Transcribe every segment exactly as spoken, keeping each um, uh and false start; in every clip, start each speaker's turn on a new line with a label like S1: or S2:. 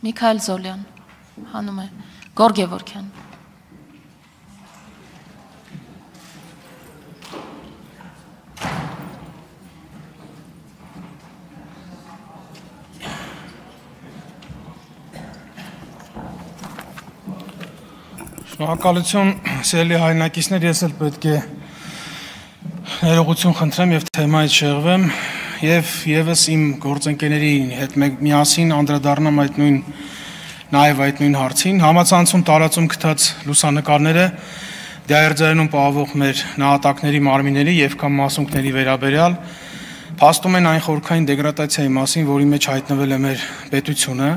S1: Միքայել Զոլյան, հանում է, Գոր Գևորգյան։
S2: Շնորհակալություն, սիրելի հայրենակիցներ, ես էլ պետք է ներողություն խնդրեմ եւ թեմայից շեղվեմ եւ եւս իմ գործընկերների հետ միասին անդրադառնամ այդ նույն նաեւ այդ նույն հարցին։ Համացանցում տարածում գտած լուսանկարները դիահերձայնում պահվող մեր նահատակների մարմինների եւ կամ մասունքների վերաբերյալ փաստում են այն խորքային դեգրադացիայի մասին, որի մեջ հայտնվել է մեր պետությունը,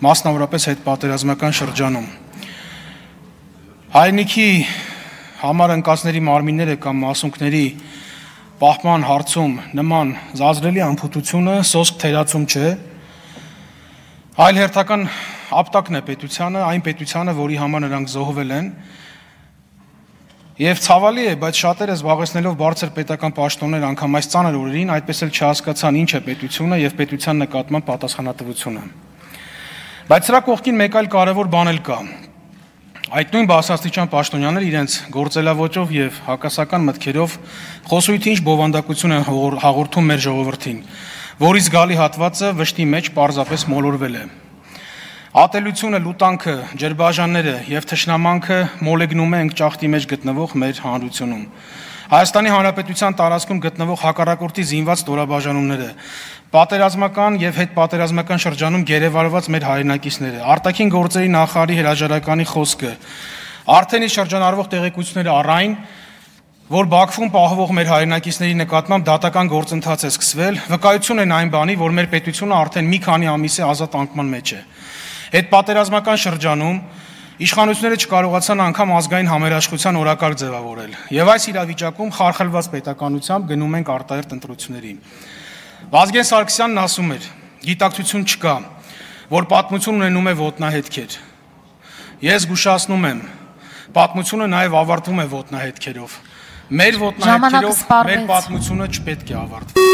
S2: մասնավորապես հետպատերազմական շրջանում։ Հայրենիքի համար ընկածների մարմինները կամ մասունքների պահպան հարցում նման զազրելի անփութությունը սոսկ թերացում չէ, այլ հերթական ապտակն է պետությանը, այն պետությանը, որի համար նրանք զոհվել են, եւ ցավալի է, բայց շատերը զբաղեցնելով բարձր պետական պաշտոններ անգամ այս ծանր օրերին այդպես էլ չհասկացան ինչ է պետությունը եւ պետության նկատմամբ պատասխանատվությունը։ Բայց սրա կողքին մեկ այլ կարևոր բան էլ կա։ Այդ նույն բարձրաստիճան պաշտոնյաները իրենց գործելավոճով եւ հակասական մտքերով խոսույթի ինչ բովանդակություն են հաղորդում մեր ժողովրդին, որի զգալի հատվածը վշտի մեջ պարզապես մոլորվել է։ Ատելությունը, լուտանքը, ջրբաժանները եւ թշնամանքը մոլեգնում է ընկճախտի մեջ գտնվող մեր հանրությունում։ Հայաստանի Հանրապետության տարածքում գտնվող հակառակորդի զինված ստորաբաժանումները, պատերազմական եւ հետպատերազմական շրջանում գերեվարված մեր հայրենակիցները, արտաքին գործերի նախարարի հրաժարականի խոսքը, արդեն իսկ շրջանառվող տեղեկությունները առայն, որ Բաքվում պահվող մեր հայրենակիցների նկատմամբ դատական գործընթաց է սկսվել, վկայություն են այն բանի, որ մեր պետությունը արդեն մի քանի ամիս է ազատ անկման մեջ է։ Հետպատերազմական շրջանում իշխանությունները չկարողացան անգամ ազգային համերաշխության օրակարգ ձևավորել, եւ այս իրավիճակում խարխլված պետականությամբ գնում ենք արտահերթ ընտրությունների։ Վազգեն Սարգսյանն ասում էր. գիտակցություն չկա, որ պատմություն ունենում է ոտնահետքեր։ Ես զգուշացնում եմ, պատմությունը նաեւ ավարտվում է ոտնահետքերով։ Մեր ոտնահետքերով մեր պատմությունը չպետք է ավարտվի։